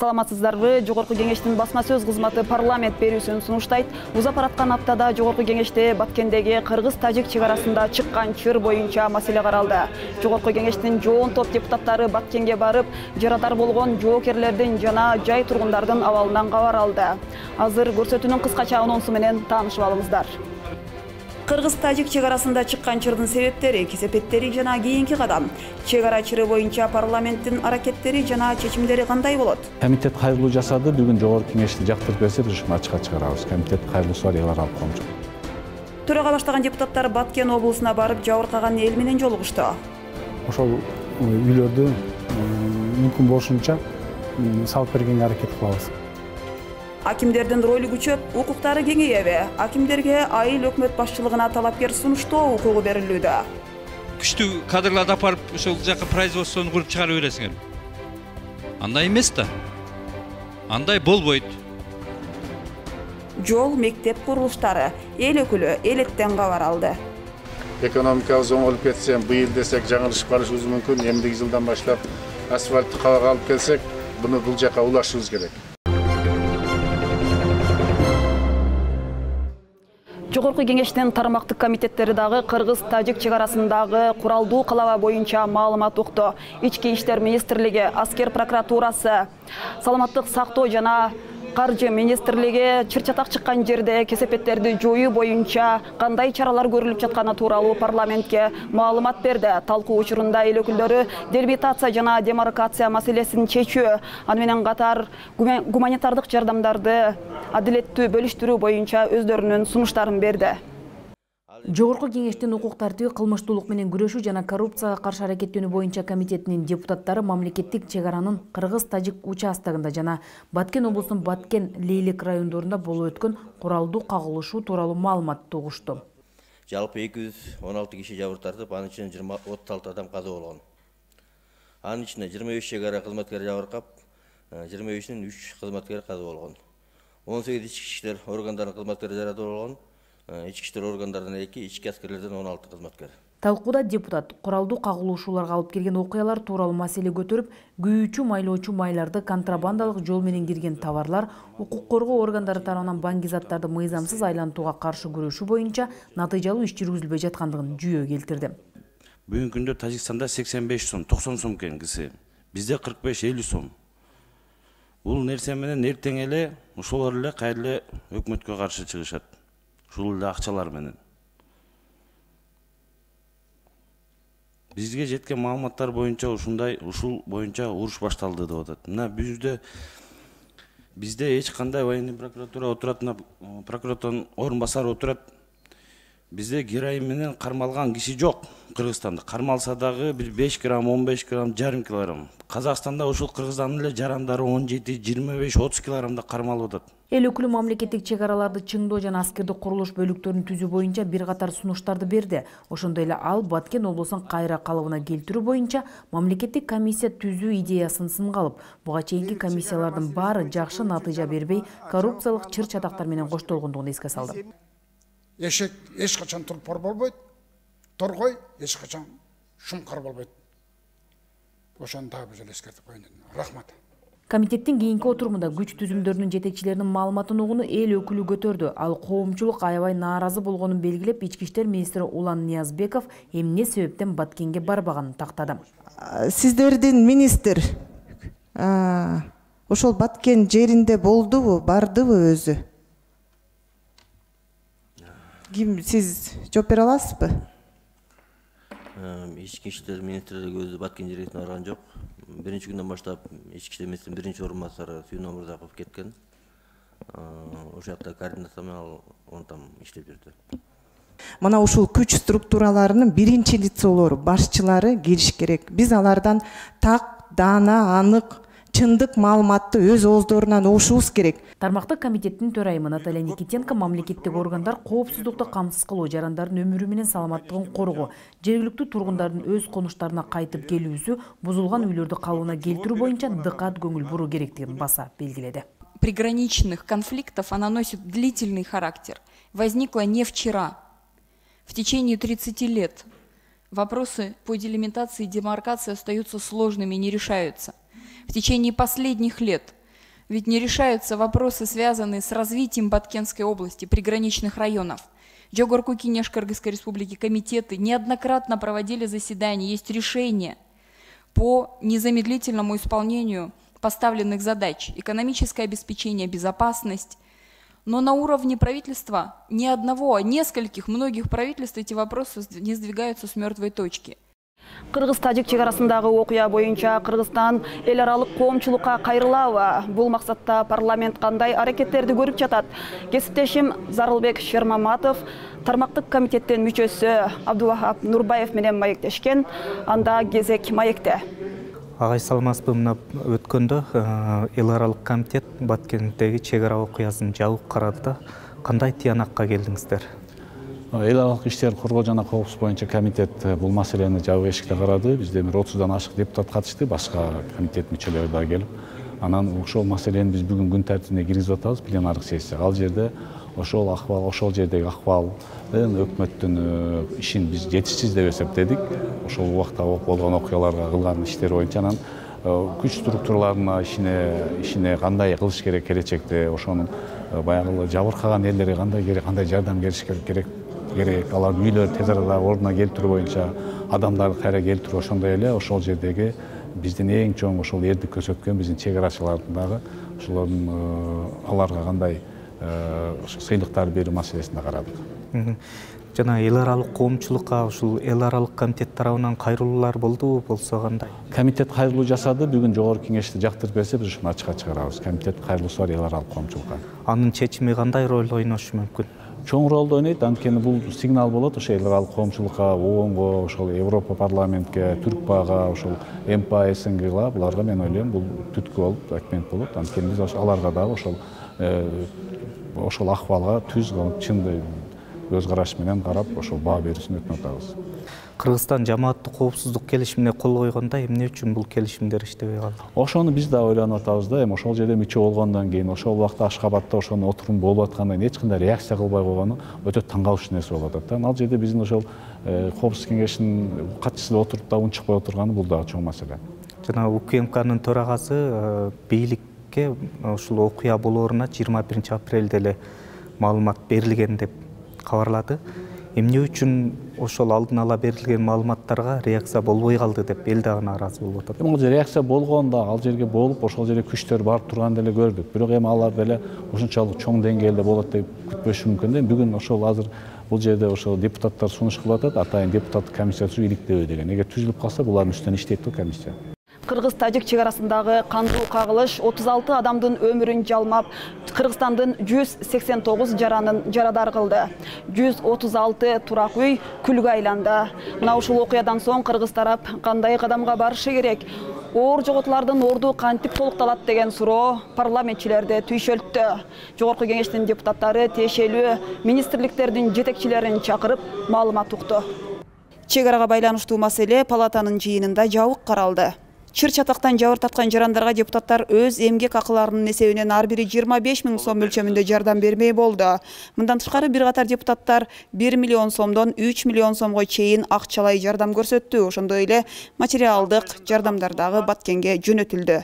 Саламатсыздарбы? Жогорку кеңештин басма сөз кызматы парламент берүүсүн сунуштайт. Узап бараткан аптада Жогорку кеңеште Баткендеги кыргыз-тажик чек арасында чыккан чыр боюнча маселе каралды. Жогорку кеңештин жоон топ депутаттары Баткенге барып, жарадар болгон жоокерлердин жана жай тургундардын абалынан кабар алды. Азыр көрсөтүүнүн кыскача анонсу менен таанышып алыңыздар. Кыргыз-тажик чек арасында чыккан чырдын себептери, кесепеттери жана кийинки кадам. Чек ара чыры боюнча парламенттин аракеттери жана чечимдери кандай болот? Комитет кайрылуу жасады. Бүгүн Жогорку кеңешти жактырып берсе, решение ачыкка чыгарабыз. Комитет кайрылуусу бар ыялар алып коймуш. Төрага баштаган депутаттар Баткен облусуна барып, жабыркаган эл менен жолугушту. Ошол үйлөрдү мүмкүн болушунча салып бергенге аракет кылабыз. Акимдердин ролу күчөп, укуктары кеңейеби? Акимдерге айыл өкмөт башчылыгына талапкер сунуштоо укугу берилүүдө. Күчтүү кадрларды апарып, ошол жака производствону куруп чыгарып бересиңер. Андай эмес да. Андай болбойт. Жол, мектеп курулуштары, эл өкүлү элеттен кабар алды. Экономикабыз оңолуп кетсе, быйыл десек жаңылышып калышыбыз мүмкүн. Эмдиги жылдан баштап асфальтты кабага алып келсек, буну бул жака улашыбыз керек. Жогорку кеңештин тармактык комитеттери дагы кыргыз-тажик чек арасындагы куралдуу калаба боюнча маалымат укту. Ички иштер министрлиги, аскер прокуратурасы, саламаттык сактоо жана каржы министрлиги чыр-чатак чыккан жерде кесепеттерди жоюу боюнча кандай чаралар көрүлүп жатканы тууралуу парламентке маалымат берди. Талкуу учурунда эл өкүлдөрү делимитация жана демаркация маселесин чечүү, аны менен катар гуманитардык жардамдарды адилеттүү бөлүштүрүү боюнча өздөрүнүн сунуштарын берди. Жогорку кеңештин укук тартиби, кылмыштуулук менен күрөшүү жана коррупцияга каршы аракеттенүү боюнча комитетинин депутаттары мамлекеттик чек аранын кыргыз-тажик участогунда жана Баткен облусунун Баткен, Лейлек райондорунда болуп өткөн куралдуу кагылышуу тууралуу маалыматты угушту. Жалпы 216 киши жабыр тартып, анын ичинен 36 адам каза болгон. Анын ичинде 25 чек ара кызматкери жабыркап, 25-нин 3 кызматкери каза болгон. 18 ички иштер органдарынын кызматкери жарадар болгон. Ички иштер органдарынан 2, ички аскерлерден 16 кызматкер. Талкууда депутат куралдуу кагылышууларга алып келген окуялар тууралуу маселе көтөрүп, күйүүчү майлоочу майларды, контрабандалык жол менен кирген товарлар, укук коргоо органдары тарабынан банги заттарды мыйзамсыз айлантууга каршы күрөшүү боюнча натыйжалуу иш жүргүзүлбөй жаткандыгын жүйө келтирди. Бүгүнкү күндө Тажикстанда 85 сом, 90 сом экен кisi. Бизде 45-50 сом. Бул нерсе менен эртең эле ошолор эле кайра өкмөткө каршы чыгышат. Ушул эле акчалар менен. Бизге жеткен маалыматтар боюнча ушул боюнча уруш башталды деп атат. Мына бизде эч кандай военный прокуратура отурат, прокуратуранын орун басары отурат. Бизде героин менен кармалган киши жок. Кыргызстанда кармалса дагы 5 грамм, 15 грамм, жарым килограмм. Казакстанда ушул кыргызстандын эле жарандары 17, 25, 30 килограммда кармалып атат. Эл өкүлү мамлекеттик чек араларды чыңдоо жана аскердик курулуш бөлүктөрүн түзүү боюнча бир катар сунуштарды берди. Ошондой эле ал Баткен облусун кайра калыбына келтирүү боюнча мамлекеттик комиссия түзүү идеясын сынга алып, буга чейинки комиссиялардын баары жакшы натыйжа бербей, коррупциялык чыр-чатактар менен коштолгондугун эске салды. Эшек эч качан турпор болбойт, торгой эч качан шумкар болбойт. Ошону дагы биз эле эскертип коеюн дедим. Рахмат. Комитеттин кийинки отурумунда күч түзүмдөрүнүн жетекчилеринин маалыматын угууну эл өкүлү көтөрдү. Ал коомчулук аябай нааразы болгонун белгилеп, ички иштер министри Улан Ниязбеков эмне себептен Баткенге барбаганын тактады. Сиздердин министр ошол Баткен жеринде болдубу, бардыбы өзү? Ким, сиз жооп бере аласызбы? Ички иштер министрлиги өзү Баткен жерине барган жок. Биринчи күндөн баштап ички иштер министринин биринчи орун басары Сүйүн Омурзаков кеткен. Ошол жакта координация менен он там иштеп жүрдү. Мына ушул күч структураларынын биринчи лицолору, башчылары келиш керек. Биз алардан так, даана, анык, чындык маалыматты өз ооздорунан угушубуз керек. Тармактык комитеттин төрайымы Наталья Никитенко мамлекеттик органдар коопсуздукту камсыз кылуу, жарандардын өмүрү менен саламаттыгын коргоо, жергиликтүү тургундардын өз конуштарына кайтып келүүсү, бузулган үйлөрдү калыбына келтирүү боюнча дыкат көңүл буруу керектигин баса белгиледи. Приграничных конфликтов она носит длительный характер. Возникла не вчера. В течение 30 лет вопросы по делимитации и демаркации остаются сложными и не решаются. В течение последних лет Ведь не решаются вопросы, связанные с развитием Баткенской области, приграничных районов. Жогорку Кеңеш Кыргызской Республики комитеты неоднократно проводили заседания, есть решения по незамедлительному исполнению поставленных задач, экономическое обеспечение, безопасность. Но на уровне правительства не одного, а нескольких, многих правительств эти вопросы не сдвигаются с мертвой точки. Кыргыз-Тажик чегарасындагы окуя боюнча Кыргызстан эл аралык коомчулукка кайрылабы? Бул максатта парламент кандай аракеттерди көрүп жатат? Кесиптешим Зарылбек Шермаматов тармактык комитеттин мүчөсү Абдувахап Нурбаев менен маектешкен. Анда кезек маекте. Агай саламатсызбы, мына өткөндө эл аралык комитет Баткендеги чегара окуясын жабып карады да. Кандай тыянакка келдиңиздер? Эл аралык иштер коргоо жана коопсуздук боюнча комитет бул маселени жабык эшикте карады. Бизде 30дан ашык депутат катышты, башка комитет мүчөлөрү да келип. Анан ошол маселени биз бүгүн күн тартибине киргизип атабыз, пленардык сессия. Ал жерде ошол акыбал, ошол жердеги акыбалдын өкмөттүн ишин биз жетишсиз деп эсептедик. Ошол убакта болгон окуяларга кылган иштер боюнча анан күч структураларына ишине кандай кылыш керек келечекте, ошонун баягы жабыркаган элдерге кандай жардам бериш керек, алардын үйлөрү тез арада ордуна келтирүү боюнча адамдарды кайра келтирүү, ошондой эле ошол жердеги биздин эң чоң ошол эрдик көрсөткөн биздин чегарачылардын дагы ошолордун аларга кандай сыйлыктар берүү маселесинде карадык. Жана эл аралык коомчулукка ушул эл аралык комитет тарабынан кайрылуулар болдубу, болсо кандай? Комитет кайрылуу жасады, бүгүн жогорку кеңешти жактырып берсе биз ушуну ачыкка чыгарабыз. Комитет кайрылуусу бар эл аралык коомчулукка. Анын чечими кандай роль ойношу мүмкүн? Чоң ролду ойнойт, анткени бул сигнал болот ошо эл аралык коомчулукка, ООНго, ошол Европа парламентке, Түркпага, ошол МПА, СНГга, буларга мен ойлойм бул түткү болуп, документ болот. Анткени биз аларга дагы ошол акыбалга түз, чын өз караш менен карап, ошол баа берүүсүн өтүнүп атабыз. Кыргызстан жамааттык коопсуздук келишимине кол койгондо эмне үчүн бул келишимдер иштебей калды? Ошону биз да ойлонуп атабыз да, эми ошол жерде мүчө болгондон кийин, ошол убакта Ашкабадта ошонун отурум болуп аткандан кийин эч кандай реакция кылбай койгону өтө таң калыштуу нерсе болуп атат да. Ал жерде биздин ошол коопсуздук кеңешинин катчысы отуруп да унчукпай отурганы бул дагы чоң маселе. Жана УКМКнын төрагасы бийликке ушул окуя болооруна 21 апрелде эле маалымат берилген деп кабарлады. Эмне үчүн ошол алдын ала берилген маалыматтарга реакция болбой калды деп эл дагы нааразы болуп атат. Ал жерде реакция болгон да, ал жерге болуп, ошол жерге күчтөр барып турганды эле көрдүк. Бирок эми алар деле ушунчалык чоң деңгээлде болот деп күтпөшү мүмкүн да. Бүгүн ошол азыр бул жерде ошол депутаттар сунуш кылып атат, атайын депутаттык комиссия түзүү иликтебей деген. Эгер түзүлүп калса, булардын үстүнөн иштейт да комиссия. Кыргыз-Тажик чегарасындагы кандуу кагылыш 36 адамдын өмүрүн жалмап, Кыргызстандын 189 жарадар кылды. 136 турак үй күлгө айланды. Мына ушул окуядан соң кыргыз тарап кандай кадамга барышы керек? Оор жоготуулардын орду кантип толукталат деген суроо парламентчилерди түйшөлттү. Жогорку кеңештин депутаттары тиешелүү министрликтердин жетекчилерин чакырып маалымат укту. Чегарага байланыштуу маселе палатанын жыйынында жабык каралды. Чыр-чатактан жабыр тарткан жарандарга депутаттар өз эмгек акыларынын эсебинен ар бири 25 000 сом мөлчөмүндө жардам бермей болду. Мындан тышкары бир катар депутаттар 1 миллион сомдон 3 миллион сомго чейин акчалай жардам көрсөттү. Ошондой эле материалдык жардамдар дагы Баткенге жөнөтүлдү.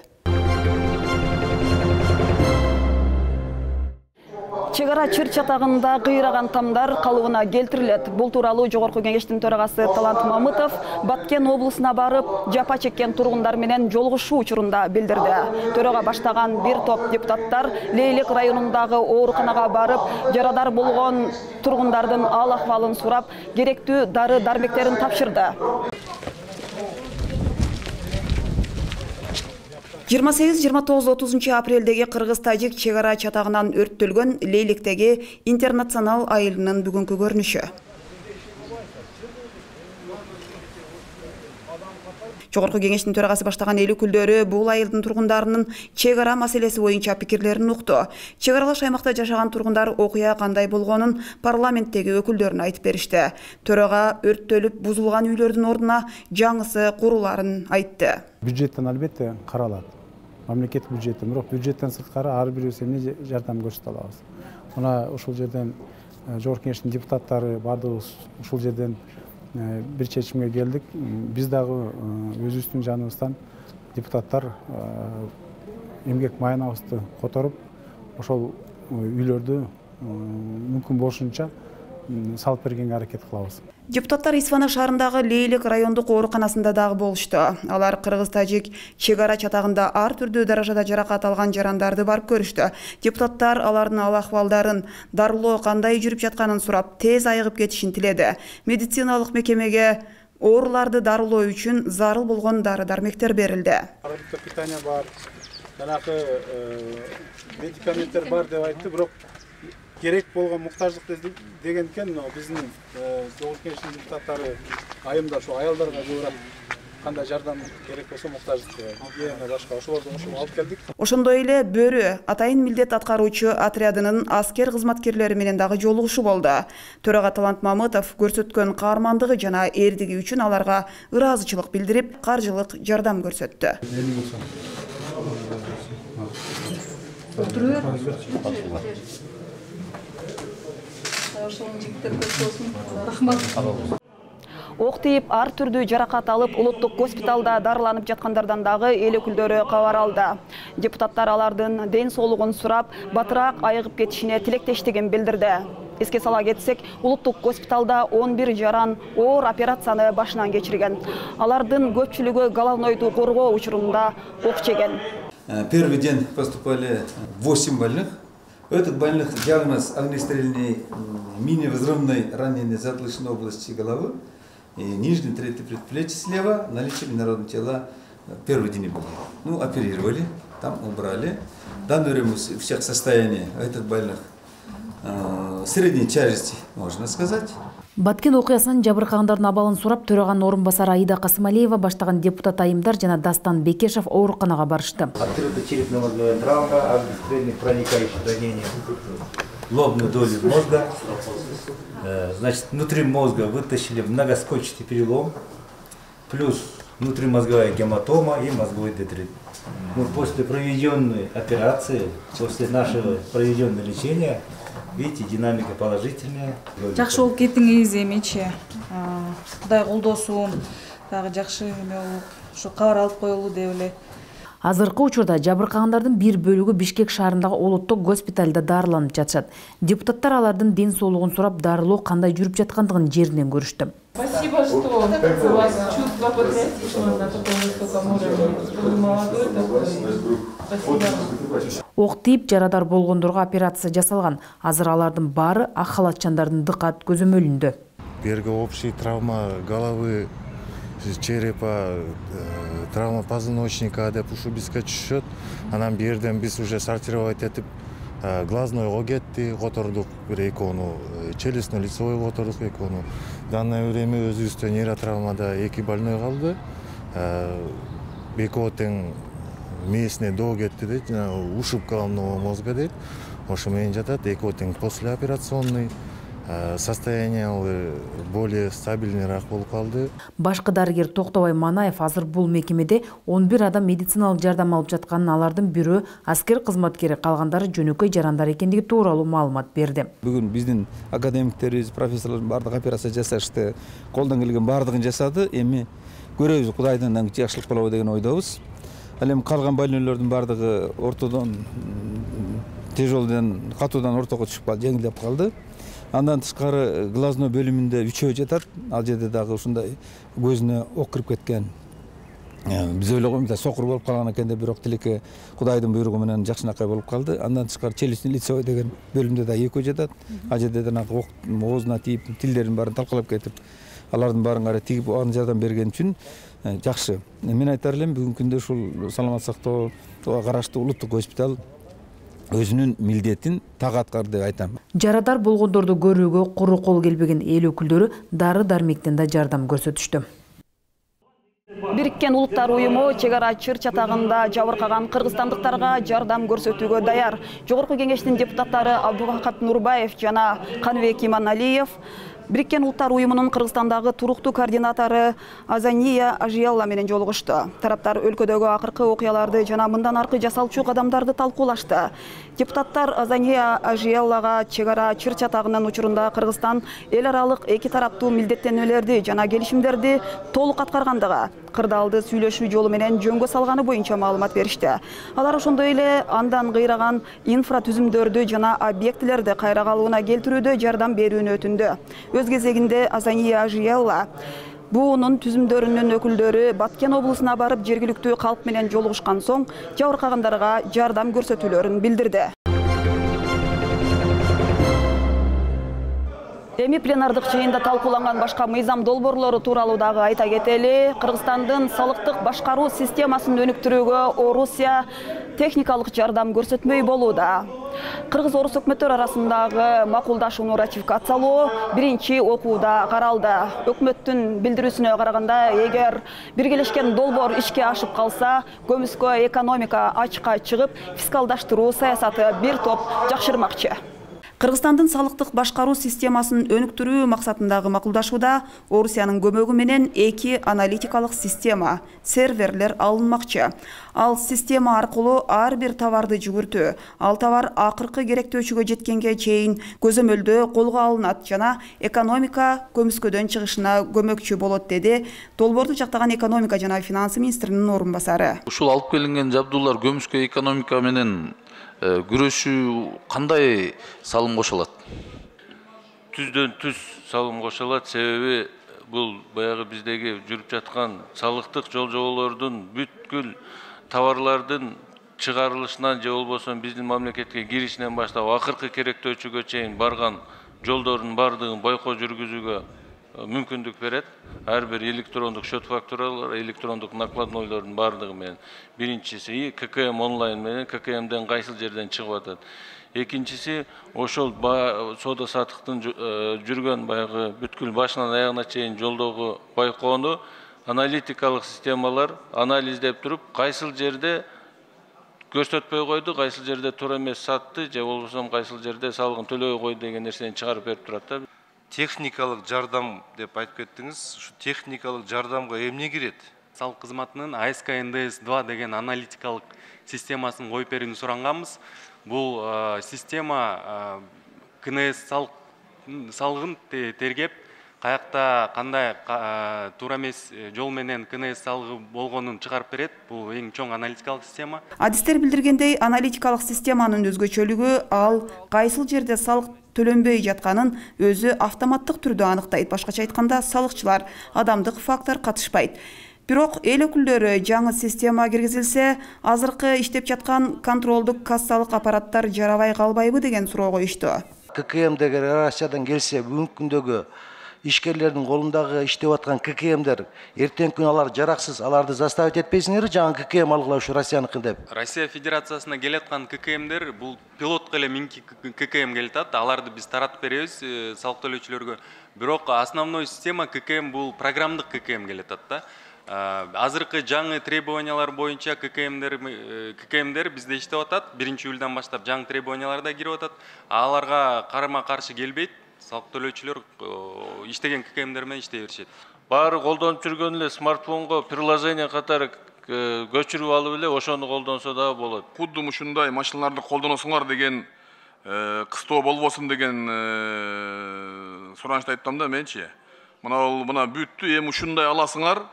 Чегара чыр-чатагында кыйраган тамдар калыбына келтирилет. Бул тууралуу жогорку кеңештин төрагасы Талант Мамытов Баткен облусуна барып, жапа чеккен тургундар менен жолугушуу учурунда билдирди. Төрага баштаган бир топ депутаттар Лейлек районундагы ооруканага барып, жарадар болгон тургундардын ал акыбалын сурап, керектүү дары-дармектерин тапшырды. 28-29 апрелдеги Кыргыз-Тажик чегара чатагынан өрттөлгөн Лейлектеги интернационал айылынын бүгүнкү көрүнүшү. Жогорку кеңештин төрагасы баштаган эл өкүлдөрү бул айылдын тургундарынын чегара маселеси боюнча пикирлерин укту. Чегаралаш аймакта жашаган тургундар окуя кандай болгонун парламенттеги өкүлдөрүнө айтып беришти. Төрага өрттөлүп бузулган үйлөрдүн ордуна жаңысы куруларын айтты. Бюджеттен албетте каралат. Мамлекет бюджети, бирок бюджеттен сырткары ар бирибиз эмне жардам көрсөтө алабыз. Мына ушул жерден жогорку кеңештин депутаттары бардыгыбыз ушул жерден бир чечимге келдик. Биз дагы өзүбүздүн жаныбыздан депутаттар эмгек маянабызды которуп ошол үйлөрдү мүмкүн болушунча салып бергенге аракет кылабыз. Депутаттар Исфана шаарындагы Лейлик райондук ооруканасында дагы болушту. Алар кыргыз-тажик чек ара чатагында ар түрдүү даражада жаракат алган жарандарды барып көрүштү. Депутаттар алардын абал-акыбалдарын, дарылоо кандай жүрүп жатканын сурап, тез айыгып кетишин тиледи. Медициналык мекемеге ооруларды дарылоо үчүн зарыл болгон дары-дармектер берилди. Продуктов питания бар, жанакы медикаменттер бар деп айтты, бирок керек болгон муктаждык дегенден биздин Жогорку Кеңештин депутаттары айымда ошо аялдарга көбүрөөк кандай жардам керек болсо муктаждык гигиена башка ошолорду кошуп алып келдик. Ошондой эле Бөрү атайын милдет аткаруучу отрядынын аскер кызматкерлери менен дагы жолугушуу болду. Төрага Талант Мамытов көрсөткөн каармандыгы жана эрдиги үчүн аларга ыраазычылык билдирип, каржылык жардам көрсөттү. Ок тийип ар түрдүү жаракат алып улуттук госпиталда дарыланып жаткандардан дагы эл өкүлдөрү кабар алды. Депутаттар алардын ден соолугун сурап, батыраак айыгып кетишине тилектештигин билдирди. Эске сала кетсек, улуттук госпиталда 11 жаран оор операцияны башынан кечирген. Алардын көпчүлүгү головнойду коргоо учурунда ок жеген. Первый день поступали 8 больных. У этих больных диагноз огнестрельной мини-взрывной ранения затылочной области головы и нижней трети предплечья слева, наличие инородного тела. Первый день были. Ну, оперировали, там убрали. В данное время всех состояние этих больных средней тяжести, можно сказать. Баткен окуясынан жабыркагандардын абалын сурап, төраганын орун басары Аида Касымалиева баштаган депутат айымдар жана Дастан Бекешев ооруканага барышты. Открыта черепно-мозговая травма, огнестрельных проникающих ранений, лобной доли мозга. Значит, внутри мозга вытащили многоскочный перелом, плюс внутримозговая гематома и мозговой детрит. После проведенной операции, после нашего проведенного лечения, видите, динамика положительная. Жакшы болуп кеттиңиз эмечи. Кудай колдосун, дагы жакшы эме болуп, ушу кабар алып коелу деп эле. Азыркы учурда жабыркагандардын бир бөлүгү Бишкек шаарындагы улуттук госпиталда дарыланып жатышат. Депутаттар алардын ден соолугун сурап, дарылоо кандай жүрүп жаткандыгын жеринен көрүштү. Спасибо, что у вас чувство патриотизма на таком высоком уровне. Вы молодой такой. Спасибо. Ок тийип жарадар болгондорго операция жасалган. Азыр алардын баары ак халатчандардын дыкат көзөмөлүндө. Берги общий травма головы, черепа, травма позвоночника деп ушу бизге түшөт. Анан берден биз уже сортировать этип глазнойго кетти, котордук бир экөөнү, челюстно лицевой котордук экөөнү. В данное время өзүбүздө нейротравмада 2 больной калды. Экөө тең местный до кетти дейт, ушиб головного мозга дейт. Ошо менен жатат, экөө тең послеоперационный. Состояние более стабильныйраак болуп калды. Башкы дарыгер Токтобай Манаев азыр бул мекемеде 11 адам медициналык жардам алып жатканын, алардын бирөө аскер кызматкери, калгандары жөнөкөй жарандар экендиги тууралуу маалымат берди. Бүгүн биздин академиктерибиз, профессорлордун бардык операция жасашты, колдон келген бардыгын жасады. Эми көрөбүз, Кудайдан жакшылык болобу деген ойдобуз. Ал эми калган больнойлордун бардыгы ортодон тяжелден, катуудан ортого түшүп калды, жеңилдеп калды. Андан тышкары глазной бөлүмүндө 3 жатат. Ал жерде дагы ушундай көзүнө ок кирип кеткен. Биз ойлогонбуз, сокур болуп калган экен деп, бирок тилекке Кудайдын буйругу менен жакшынакай болуп калды. Андан тышкары челюстный лицевой деген бөлүмдө да 2 жатат. Ал жерде да ок оозуна тийип, тилдерин баарын талкалап кетип, алардын баарын кара тигип, ага жардам берген үчүн жакшы. Мен айтар элем, бүгүнкү күндө ушул саламат сактоого караштуу улуттук госпиталь өзүнүн милдетин так аткарды деп айтам. Жарадар болгондорду көрүүгө куру кол келбеген эл өкүлдөрү дары-дармектен да жардам көрсөтүштү. Бириккен Улуттар уюму чек ара чыр чатагында жабыркаган кыргызстандыктарга жардам көрсөтүүгө даяр. Жогорку Кеңештин депутаттары Абдубакат Нурбаев жана Каныбек Иманалиев Бириккен Улуттар уюмунун Кыргызстандагы туруктуу координатору Азания Ажиялла менен жолугушту. Тараптар өлкөдөгү акыркы окуяларды жана мындан аркы жасалчу кадамдарды талкуулашты. Депутаттар Азания Ажияллага чек ара чыр чатагынын учурунда Кыргызстан эл аралык эки тараптуу милдеттенүүлөрдү жана келишимдерди толук аткаргандыгы, кырдаалды сүйлөшүү жолу менен жөнгө салганы боюнча маалымат беришти. Алар ошондой эле андан кыйраган инфратүзүмдөрдү жана объектилерди кайра калыбына келтирүүдө жардам берүүнү өтүндү. Өз кезегинде Азания Ажиелла буунун түзүмдөрүнүн өкүлдөрү Баткен облусуна барып жергиликтүү калк менен жолугушкан соң жабыркагандарга жардам көрсөтүүлөрүн билдирди. Эми пленардык жыйында талкууланган башка мыйзам долбоорлору тууралуу дагы айта кетели. Кыргызстандын салыктык башкаруу системасын өнүктүрүүгө Орусия техникалык жардам көрсөтмөй болууда. Кыргыз-орус өкмөттөр арасындагы макулдашууну ратификациялоо биринчи окууда каралды. Өкмөттүн билдирүүсүнө караганда, эгер биргелешкен долбоор ишке ашып калса, көмүскө экономика ачка чыгып, фискалдаштыруу саясаты бир топ жакшырмакчы. Кыргызстандын салыктык башкаруу системасын өнүктүрүү максатындагы макулдашууда Орусиянын көмөгү менен 2 аналитикалык система, серверлер алынмакчы. Ал система аркылуу ар бир товарды жүгүртүү, ал товар акыркы керектөөчүгө жеткенге чейин көзөмөлдөө колго алынат жана экономика көмүскөдөн чыгышына көмөкчү болот, деди долбоорду жактаган экономика жана финансы министринин орун басары. Ушул алып келинген жабдуулар көмүскө экономика менен күрөшүү кандай салым кошолот? Түздөн түз салым кошолот, себеби бул баягы биздеги жүрүп жаткан салыктык жол-жоболордун бүткүл товарлардын чыгарылышынан же болбосо биздин мамлекетке киришинен баштап акыркы керектөөчүгө чейин барган жолдордун бардыгын байкоо жүргүзүүгө мүмкүндүк берет. Ар бир электрондук счет фактуралар, электрондук накладнойлордун бардыгы менен. Биринчиси ККМ онлайн менен ККМден кайсыл жерден чыгып атат. Экинчиси ошол соода саттыктын жүргөн баягы бүткүл башынан аягына чейин жолдогу байкоону аналитикалык системалар анализдеп туруп, кайсыл жерде көрсөтпөй койду, кайсыл жерде туура эмес сатты, же болбосо кайсыл жерде салыгын төлөбөй койду деген нерсени чыгарып берип турат да. Техникалык жардам деп айтып кеттиңиз. Ушу техникалык жардамга эмне кирет? Салык кызматынын АСК НДС-2 деген аналитикалык системасын коюп берүүнү суранганбыз. Бул система КНС салыгын тергеп, каякта кандай туура эмес жол менен КНС салыгы болгонун чыгарып берет. Бул эң чоң аналитикалык система. Адистер билдиргендей, аналитикалык системанын өзгөчөлүгү ал кайсыл жерде салык төлөнбөй жатканын өзү автоматтык түрдө аныктайт. Башкача айтканда, салыкчылар адамдык фактор катышпайт. Бирок эл өкүлдөрү жаңы система киргизилсе, азыркы иштеп жаткан контролдук кассалык аппараттар жарабай калбайбы деген суроо коюшту. ККМдеги Россиядан келсе, бүгүнкү күндөгү ишкерлердин колундагы иштеп аткан ККМдер эртеңки күнү алар жараксыз, аларды заставить этпейсиңерби жаңы ККМ алгыла ушу Россияныкы деп? Россия Федерациясына келаткан ККМдер бул пилотко эле минки ККМ келатат. Аларды биз таратып беребиз салык төлөөчүлөргө. Бирок основной система ККМ бул программдык ККМ келатат да. Азыркы жаңы требованиялар боюнча ККМдер бизде иштеп атат. 1-июлдан баштап жаңы требованиялар да кирип атат. Аларга карама-каршы келбейт. Салык төлөөчүлөр иштеген ККМдер менен иштей беришет. Баары колдонуп жүргөн эле смартфонго приложение катары көчүрүп алып эле ошону колдонсо дагы болот. Кудду ушундай машиналарды колдоносуңар деген кыстоо болбосун деген суранышты айттым да менчи. Мына бүттү, эми ушундай аласыңар.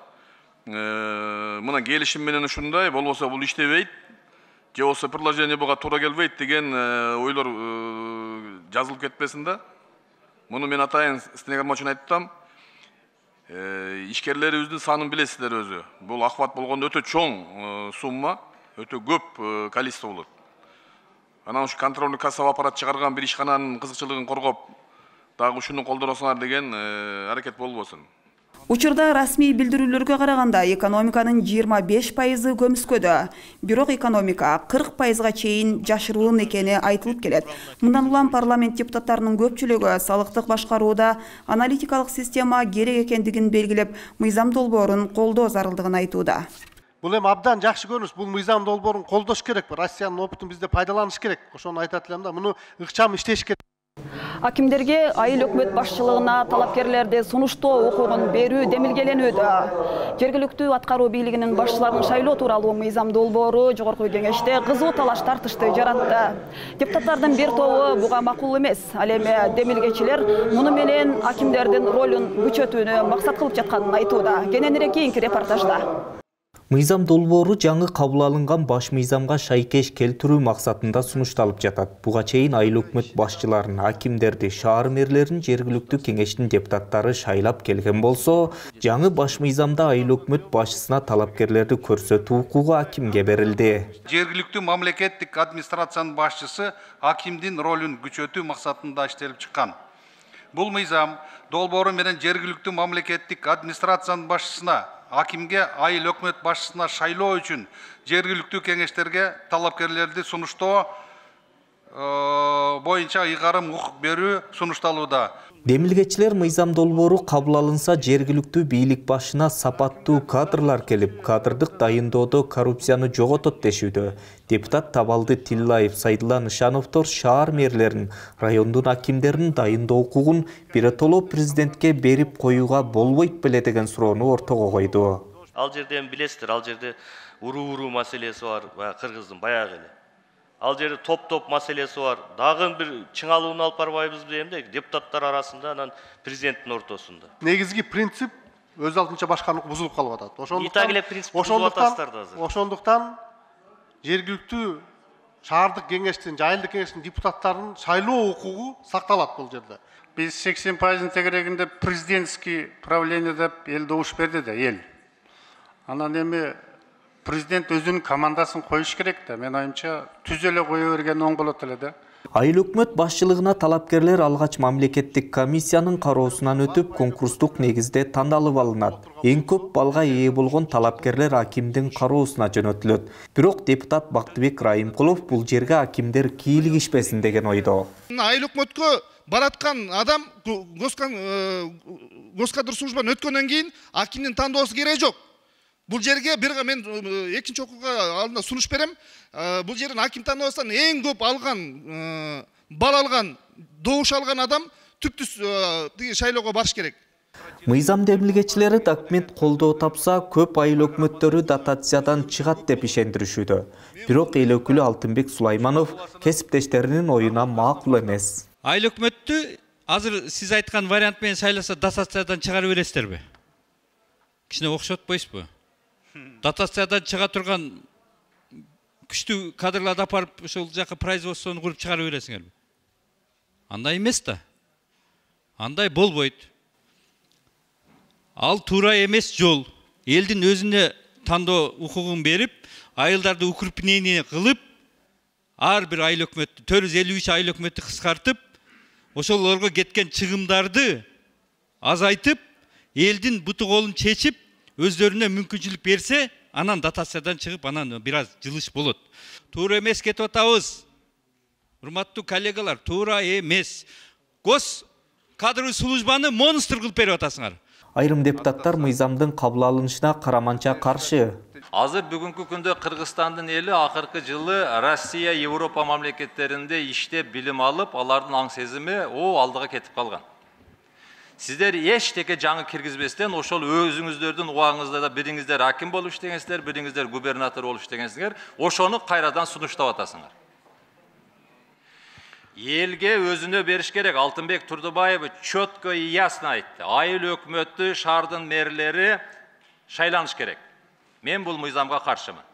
Мына келишим менен ушундай, болбосо бул иштебейт. Же болсо приложение буга туура келбейт деген ойлор жазылып кетпесин да. Муну мен атайын стенограмма үчүн айттым. Ишкерлерибиздин санын билесиздер өзү. Бул охват болгондо өтө чоң сумма, өтө көп количество болот. Анан ушу контрольный кассовый аппарат чыгарган бир ишкананын кызыкчылыгын коргоп, дагы ушуну колдоносуңар деген аракет болбосун. Учурда расмий билдирүүлөргө караганда экономиканын 25% көмүскөдө, бирок экономика 40%га чейин жашыруун экени айтылып келет. Мындан улам парламент депутаттарынын көпчүлүгү салыктык башкарууда аналитикалык система керек экендигин белгилеп, мыйзам долбоорун колдоо зарылдыгын айтууда. Бул эми абдан жакшы көрүнүш, бул мыйзам долбоорун колдош керек, Россиянын опытын бизде пайдаланыш керек. Ошону айтат элем да, муну ыкчам иштеш керек. Акимдерге айыл өкмөт башчылыгына талапкерлерди сунуштоо укугун берүү демилгеленүүдө. Жергиликтүү аткаруу бийлигинин башчыларын шайлоо тууралуу мыйзам долбоору жогорку кеңеште кызуу талаш тартышты жаратты. Депутаттардын бир тобу буга макул эмес. Ал эми демилгечилер муну менен акимдердин ролун күчөтүүнү максат кылып жатканын айтууда. Кененирээк кийинки репортажда. Мыйзам долбоору жаңы кабыл алынган баш мыйзамга шайкеш келтирүү максатында сунушталып жатат. Буга чейин айыл өкмөт башчыларын, акимдерди, шаар мэрлерин жергиликтүү кеңештин депутаттары шайлап келген болсо, жаңы баш мыйзамда айыл өкмөт башчысына талапкерлерди көрсөтүү укугу акимге берилди. Жергиликтүү мамлекеттик администрациянын башчысы акимдин ролун күчөтүү максатында иштелип чыккан. Бул мыйзам долбоору менен жергиликтүү мамлекеттик администрациянын башчысына, акимге айыл өкмөт башчысына шайлоо үчүн жергиликтүү кеңештерге талапкерлерди сунуштоо боюнча ыйгарым укук берүү сунушталууда. Демилгечилер мыйзам долбоору кабыл алынса жергиликтүү бийлик башына сапаттуу кадрлар келип, кадрдык дайындоодо коррупцияны жоготот дешүүдө. Депутат Табалды Тиллаев, Сайдулла Нышановдор шаар мэрлерин, райондун акимдерин дайындоо укугун биротоло президентке берип коюуга болбойт беле деген суроону ортого койду. Ал жерде билесиздер, ал жерде уруу маселеси бар, кыргыздын баягы эле. Ал жерде топ маселеси бар. Дагы бир чыңалууну алып барбайбыз дегенде депутаттар арасында, анан президенттин ортосунда. Негизги принцип өз алдынча башкаруу бузулуп калып атат. Ошондуктан жергиликтүү шаардык кеңештин, айылдык кеңештин депутаттарынын шайлоо укугу сакталат бул жерде. Биз 80% тегерегинде президентский правление деп эл добуш берди да, эл. Анан эми президент өзүнүн командасын коюш керек да. Мен оюмча түз эле кое берген оң болот эле да. Айыл өкмөт башчылыгына талапкерлер алгач мамлекеттик комиссиянын кароосунан өтүп, конкурстук негизде тандалып алынат. Эң көп балга ээ болгон талапкерлер акимдин кароосуна жөнөтүлөт. Бирок депутат Бактыбек Райымкулов бул жерге акимдер кийлигишпесин деген ойдо. Айыл өкмөткө бараткан адам госкадр службаны өткөндөн кийин акимдин тандоосу кереги жок. Бул жерге мен экинчи окууга алдында сунуш берем. Бул жерден аким тандоосунан эң көп алган, бал алган, добуш алган адам түптүз шайлоого барыш керек. Мыйзам демилгечилери документ колдоо тапса, көп айыл өкмөттөрү дотациядан чыгат деп ишендиришүүдө. Бирок эл өкүлү Алтынбек Сулайманов кесиптештеринин оюна макул эмес. Айыл өкмөттү азыр сиз айткан вариант менен шайласа дотациядан чыгарып бересиздерби? Кичине окшоп атпайсызбы? Дотациядан чыга турган күчтүү кадрларды апарып ошол жака производствону куруп чыгарып бересиңерби? Андай эмес да. Андай болбойт. Ал туура эмес жол. Элдин өзүнө тандоо укугун берип, айылдарды укрупнение кылып, ар бир айыл өкмөттү 453 айыл өкмөттү кыскартып, ошолорго кеткен чыгымдарды азайтып, элдин буту колун чечип, өздөрүнө мүмкүнчүлүк берсе, анан дотациядан чыгып, анан бир аз жылыш болот. Туура эмес кетип атабыз. Урматтуу коллегалар, туура эмес. Гос кадровый службаны монстр кылып берип атасыңар. Айрым депутаттар мыйзамдын кабыл алынышына караманча каршы. Азыр бүгүнкү күндө Кыргызстандын эли акыркы жылы Россия, Европа мамлекеттеринде иштеп билим алып, алардын аң сезими алдыга кетип калган. Сиздер эчтеке жаңы киргизбестен ошол өзүңүздөрдүн убагыңызда да бириңиздер аким болуп иштегенсиздер, бириңиздер губернатор болуп иштегенсиңер, ошону кайрадан сунуштап атасыңар. Элге өзүнө бериш керек. Алтынбек Турдубаев четко и ясно айтты. Айыл өкмөттү, шаардын мэрлери шайланыш керек. Мен бул мыйзамга каршымын.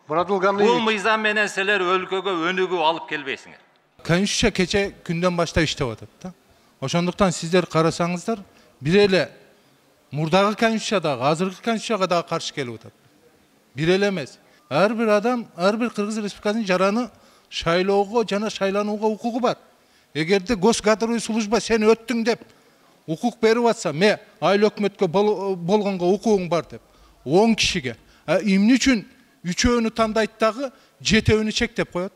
Бул мыйзам менен силер өлкөгө өнүгүү алып келбейсиңер. Конституция кече күндөн баштап иштеп атат да. Ошондуктан сиздер карасаңыздар, бир эле мурдагы конституцияга, азыркы конституцияга дагы каршы келип атат. Бир эле эмес. Ар бир адам, ар бир Кыргыз Республикасынын жараны шайлоого жана шайланууга укугу бар. Эгерде госкадровый служба сен өттүң деп укук берип атса, ме айыл өкмөткө болгонго укугуң бар деп 10 кишиге, эмне үчүн 3-өөнү тандайт дагы 7-өөнү чектеп коет?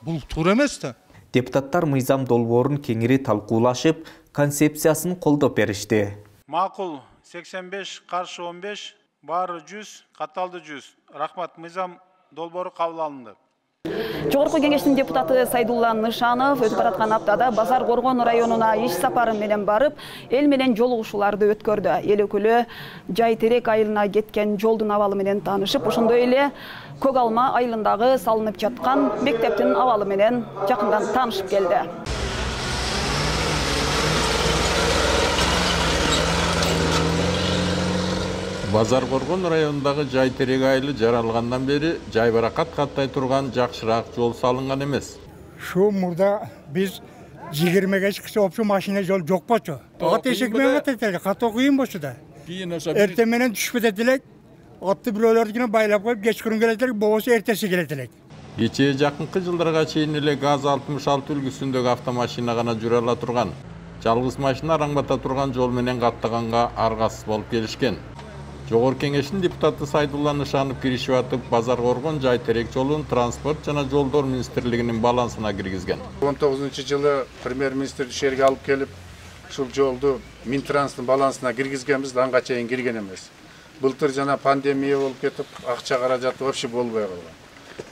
Бул туура эмес да. Депутаттар мыйзам долбоорун кеңири талкуулашып, концепциясын колдоп беришти. Макул 85, каршы 15, баары 100, катталды 100. Рахмат, мыйзам долбоору кабыл алынды. Жогорку кеңештин депутаты Сайдулла Нышанов өтүп бараткан аптада Базар Коргон районуна иш сапары менен барып, эл менен жолугушууларды өткөрдү. Эл өкүлү Жай Терек айылына кеткен жолдун абалы менен таанышып, ошондой эле Көк Алма айылындагы салынып жаткан мектептин абалы менен жакындан таанышып келди. Базар Коргон районундагы Жай Терек айылы жаралгандан бери жайбаракат каттай турган жакшыраак жол салынган эмес. Şu murda biz 20'ge çıksa opşu maşine yol yok boçu. At eşek mi atetiler, kat okuyun boşu da. Ertemenen düşüp edilerek, atlı birolarına baylap koyup geç kurun geletiler, babası ertesi geletiler. Geçe jakынкы жылдарга чейин эле ГАЗ 66 үлгүсүндөгү автомашина гана жүрө ала турган. Жалгыз машина араңбата турган жол менен каттаганга аргасыз болуп келишкен. Жогорку кеңештин депутаты Сайдулла Нышанов киришип атып, Базар Коргон Жай Терек жолун транспорт жана жолдор министрлигинин балансына киргизген. 19-жылы премьер-министр ишерге алып келип, ушул жолду Минтранстын балансына киргизгенбиз, анга чейин кирген эмес. Былтыр жана пандемия болуп кетип, акча каражаты вообще болбой калган.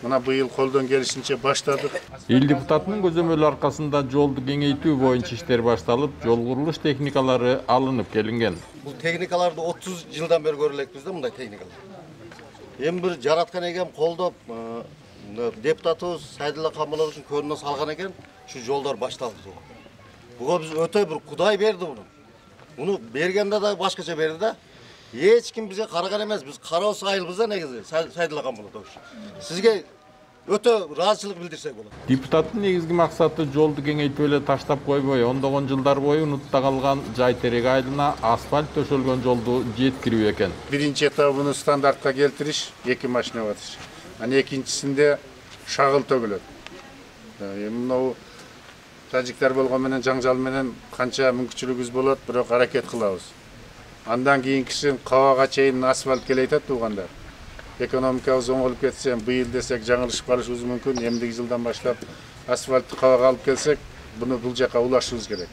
Мына быйыл колдон келишинче баштадык. Эл депутатынын көзөмөлү аркасында жолду кеңейтүү боюнча иштер башталып, жол курулуш техникалары алынып келинген. Бул техникаларды 30 жылдан бери көрө элекпиз да, мындай техникалар. Эми бир жараткан экен, колдоп депутатыбыз Сайдулла Камаловичтин көрүнө салган экен, ушу жолдор башталды. Буга биз өтө бир Кудай берди буну. Муну бергенде да башкача берди да. Эч ким бизге караган эмес, биз кароосу айылбыз да негизи Сайдулла Камалович. Сизге өтө ыраазычылык билдирсек болот. Депутаттын негизги максаты жолду кеңейтип эле таштап койбой, ондогон жылдар бою унутта калган Жай Терек айылына асфальт төшөлгөн жолду жеткирүү экен. Биринчи этабын стандартка келтириш, 2 машина батыш. Анан экинчисинде шагыл төгүлөт. Эми тажиктер болгон менен жаңжал менен канча мүмкүнчүлүгүбүз болот, бирок аракет кылабыз. Андан кийинкисин кабага чейин асфальт келейтет туугандар. Экономикабыз оңолуп кетсе, быйыл десек жаңылышып калышыбыз мүмкүн. Эмдиги жылдан баштап асфальтты кабага алып келсек, буну бул жака улашыбыз керек.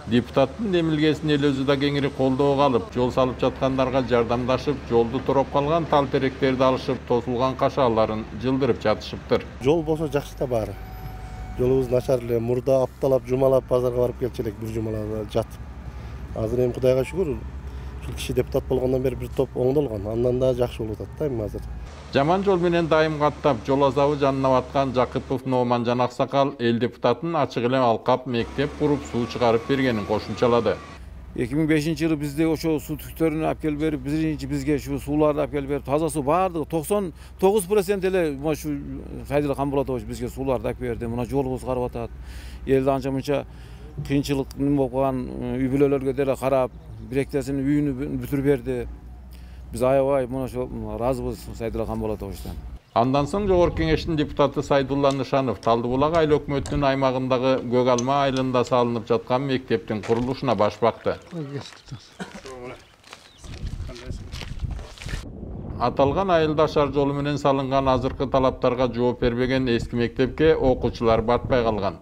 Депутаттын демилгесин эл өзү да кеңири колдоого алып, жол салып жаткандарга жардамдашып, жолду тороп калган тал теректерди алышып, тосулган кашааларын жылдырып жатышыптыр. Жол болсо жакшы да баары. Жолубуз начар эле, мурда апталап, жумалап базарга барып келчү элек, бир жумалада жатып. Азыр эми Кудайга шүгүр, киши депутат болгондон бери бир топ оңдолгон. Андан да жакшы болуп атат да эми азыр. Жаман жол менен дайым каттап, жол азабы жанына баткан Жакыпов Номан жана Аксакал эл депутатын ачык эле алкап мектеп куруп суу чыгарып бергенин кошумчалады. 2005-жылы бизде ошо суу түктөрүнү алып келип берип, бизге ушу сууларды алып келип берип, таза суу баардыгы 99% эле ушу Сайдулла Камболотович бизге сууларды алып берди. Мына жолубуз карап атат. Элди анча-мынча кыйынчылык болуп калган үй бүлөлөргө деле карап, биректесинин үйүнү бүтүрүп берди. Биз аябай мына ошо ыраазыбыз Сайдулла Камболотовичтан. Андан соң жогорку кеңештин депутаты Сайдулла Нышанов Талды Булак айыл өкмөтүнүн аймагындагы Көк Алма айылында салынып жаткан мектептин курулушуна баш бакты. Аталган айылда шаар жолу менен салынган азыркы талаптарга жооп бербеген эски мектепке окуучулар батпай калган.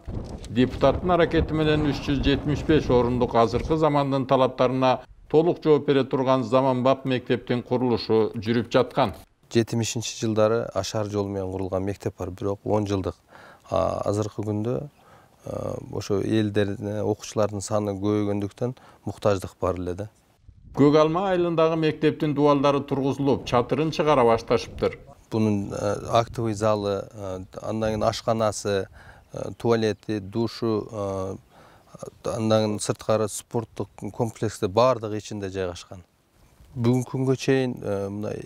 Депутаттын аракети менен 375 орундук азыркы замандын талаптарына толук жооп бере турган заманбап мектептин курулушу жүрүп жаткан. 70-жылдары ашар жол менен курулган мектеп бар, бирок 10 жылдык. Азыркы күндө ошо элдердин, окуучулардын саны көбөйгөндүктөн муктаждык бар эле да. Көк Алма айылындагы мектептин дубалдары тургузулуп, чатырын чыгара башташыптыр. Бунун актовый залы, андан кийин ашканасы, туалети, душу, андан сырткары спорттук комплексте баардыгы ичинде жайгашкан. Бүгүнкү күнгө чейин мындай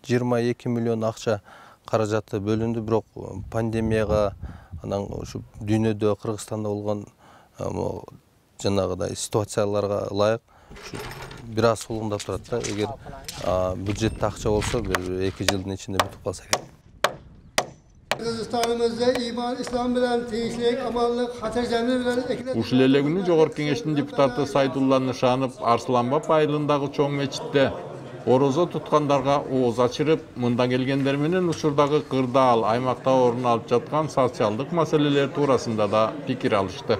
22 миллион акча каражаты бөлүндү, бирок пандемияга, анан ушу дүйнөдө, Кыргызстанда болгон жанагыдай ситуацияларга ылайык бир аз сулгундап турат да. Эгер бюджетте акча болсо, бир 2 жылдын ичинде бүтүп калса керек. Kırgızistanımızda iman, İslam bilen tinçlik, amanlık, hatırcamlı bilen... Ушул эле күнү жогорку кеңештин депутаты Сайдулла Нышанов Арсланбап айылындагы чоң мечитте орозо туткандарга ооз ачырып, мындан келгендер менен учурдагы кырдаал аймакта орун алып жаткан социалдык маселелер туурасында да пикир алышты.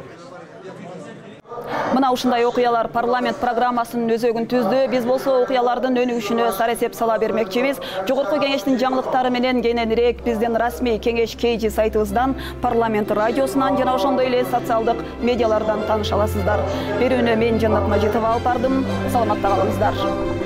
Мына Жана ушундай окуялар парламент программасынын өзөгүн түздү. Биз болсо окуялардын өнүгүшүнө саресеп сала бермекчибиз. Жогорку кеңештин жаңылыктары менен кененирээк биздин расмий кеңеш KG сайтыбыздан, парламент радиосунан жана ошондой эле социалдык медиалардан тааныша аласыздар. Берүүнү мен Жанат Мажитова алып бардым. Саламатта калыңыздар.